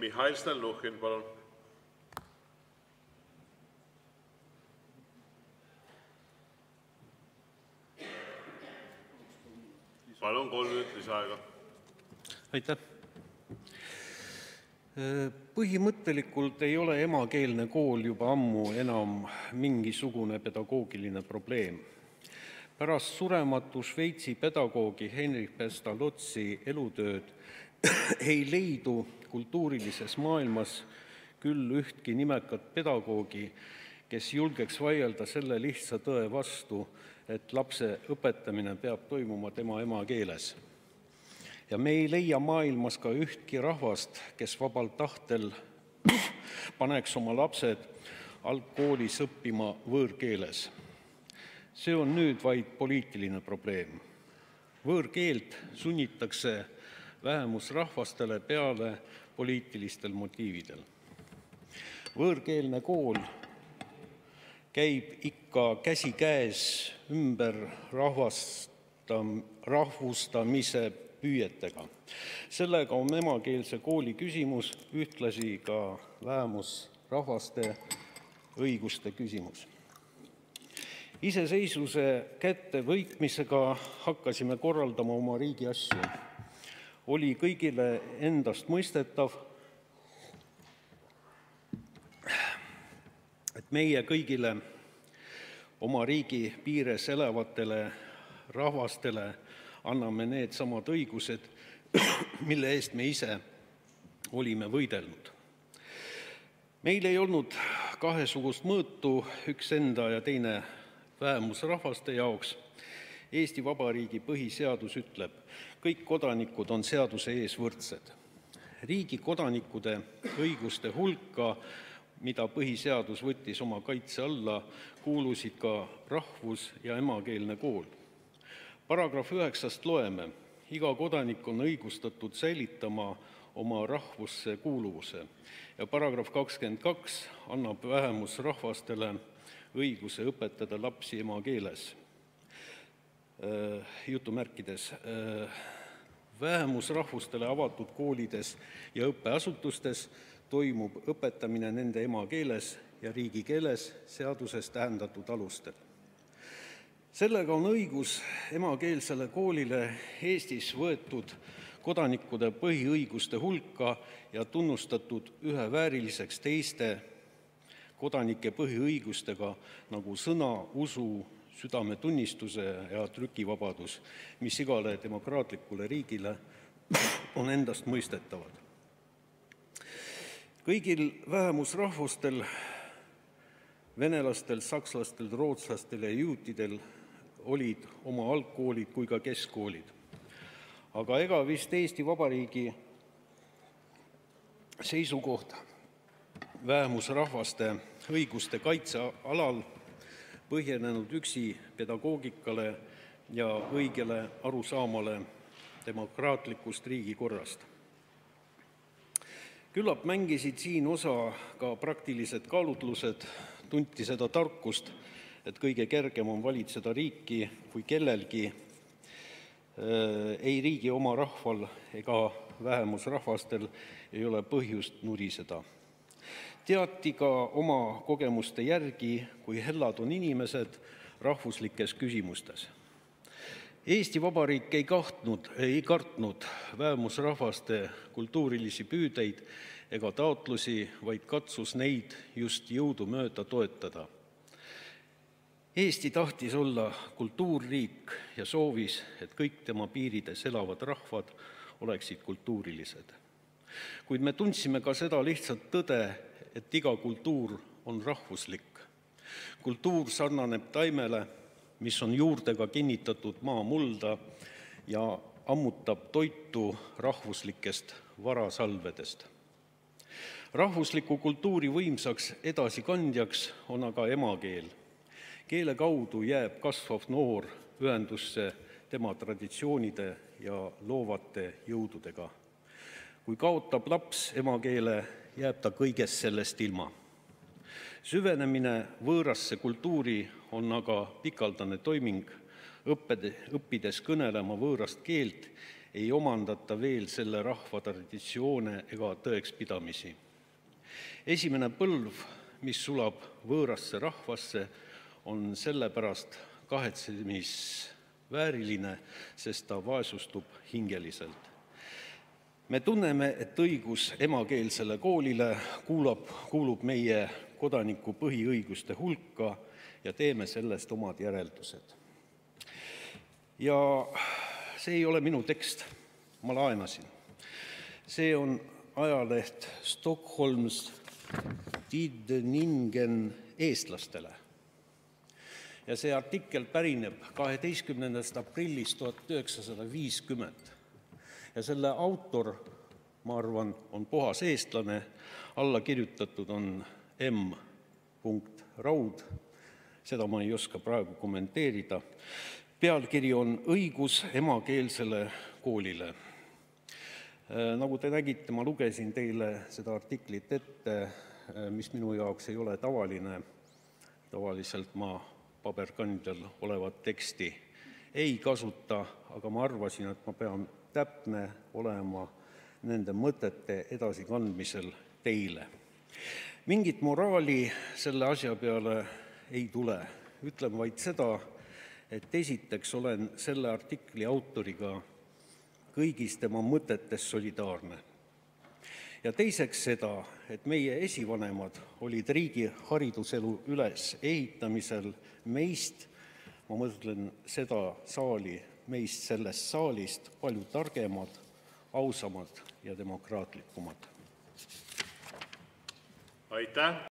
Mihhail Stalnuhhin, palun! Palun, 3 minutit lisaaega. Aitäh! Põhimõttelikult ei ole emakeelne kool juba ammu enam mingisugune pedagoogiline probleem. Pärast surematu Šveitsi pedagoogi Heinrich Pestalozzi elutööd ei leidu kultuurilises maailmas küll ühtki nimekat pedagoogi, kes julgeks vaielda selle lihtsa tõe vastu, et lapse õpetamine peab toimuma tema emakeeles. Ja me ei leia maailmas ka ühtki rahvast, kes vabal tahtel paneks oma lapsed algkoolis õppima võõrkeeles. See on nüüd vaid poliitiline probleem. Võõrkeelt sunnitakse vähemusrahvastele peale poliitilistel motiividel. Võõrkeelne kool käib ikka käsikäes ümber rahvustamise püüetega. Sellega on emakeelse kooli küsimus ühtlasi ka vähemusrahvaste õiguste küsimus. Iseseisvuse kättevõitmisega hakkasime korraldama oma riigi asju. Oli kõigile endast mõistetav, et meie kõigile oma riigi piires elavatele rahvastele anname need samad õigused, mille eest me ise olime võidelnud. Meil ei olnud kahesugust mõõtu, üks enda ja teine vähemusrahvaste jaoks. Eesti Vabariigi põhiseadus ütleb, kõik kodanikud on seaduse ees võrdsed. Riigi kodanikude õiguste hulka, mida põhiseadus võttis oma kaitse alla, kuulusid ka rahvus- ja emakeelne kool. Paragrahv 9 loeme, iga kodanik on õigustatud säilitama oma rahvusse kuuluvuse ja paragrahv 22 annab vähemusrahvastele õiguse õpetada lapsi emakeeles. Jutumärkides. Vähemusrahvustele avatud koolides ja õppeasutustes toimub õpetamine nende emakeeles ja riigikeeles seaduses tähendatud alustel. Sellega on õigus emakeelsele koolile Eestis võetud kodanikude põhiõiguste hulka ja tunnustatud ühevääriliseks teiste kodanike põhiõigustega nagu sõna, usu, südametunnistuse ja trükivabadus, mis igale demokraatlikule riigile on endast mõistetavad. Kõigil vähemusrahvustel, venelastel, sakslastel, rootslastel ja juutidel olid oma algkoolid kui ka keskkoolid. Aga ega vist Eesti Vabariigi seisukoht vähemusrahvaste õiguste kaitse alal põhjenenud üksi pedagoogikale ja õigele arusaamale demokraatlikust riigikorrast. Küllap mängisid siin osa ka praktilised kaalutlused, tunti seda tarkust, et kõige kergem on valitseda riiki, kui kellelgi ei riigi oma rahval ega vähemusrahvastel ei ole põhjust nuriseda. Teati ka oma kogemuste järgi, kui hellad on inimesed rahvuslikes küsimustes. Eesti Vabariik ei kartnud vähemusrahvaste kultuurilisi püüdeid ega taotlusi, vaid katsus neid just jõudumööda toetada. Eesti tahtis olla kultuurriik ja soovis, et kõik tema piirides elavad rahvad oleksid kultuurilised. Kuid me tundsime ka seda lihtsalt tõde, et iga kultuur on rahvuslik. Kultuur sarnaneb taimele, mis on juurtega kinnitatud maamulda ja ammutab toitu rahvuslikest varasalvedest. Rahvusliku kultuuri võimsaks edasikandjaks on aga emakeel. Keele kaudu jääb kasvav noor ühendusse tema traditsioonide ja loovate jõududega. Kui kaotab laps emakeele, jääb ta kõigest sellest ilma. Süvenemine võõrasse kultuuri on aga pikaldane toiming, õppides kõnelema võõrast keelt, ei omandata veel selle rahva traditsioone ega tõekspidamisi. Esimene põlv, mis sulab võõrasse rahvasse, on sellepärast kahetsemisvääriline, sest ta vaesustub hingeliselt. Me tunneme, et õigus emakeelsele koolile kuulub meie kodaniku põhiõiguste hulka ja teeme sellest omad järeldused. Ja see ei ole minu tekst, ma laenasin. See on ajaleht Stockholms Tidningen eestlastele. Ja see artikkel pärineb 12. aprillist 1950. Ja selle autor, ma arvan, on puhas eestlane, alla kirjutatud on M. Raud, seda ma ei oska praegu kommenteerida. Pealkiri on õigus emakeelsele koolile. Nagu te nägite, ma lugesin teile seda artiklit ette, mis minu jaoks ei ole tavaline. Tavaliselt ma paberkandjal olevat teksti ei kasuta, aga ma arvasin, et ma pean täpne olema nende mõtete edasikandmisel teile. Mingit moraali selle asja peale ei tule. Ütlen vaid seda, et esiteks olen selle artikli autoriga kõigis tema mõtetes solidaarne. Ja teiseks seda, et meie esivanemad olid riigi hariduselu üles ehitamisel meist, ma mõtlen seda saali, meist sellest saalist palju targemad, ausamad ja demokraatlikumad. Aitäh!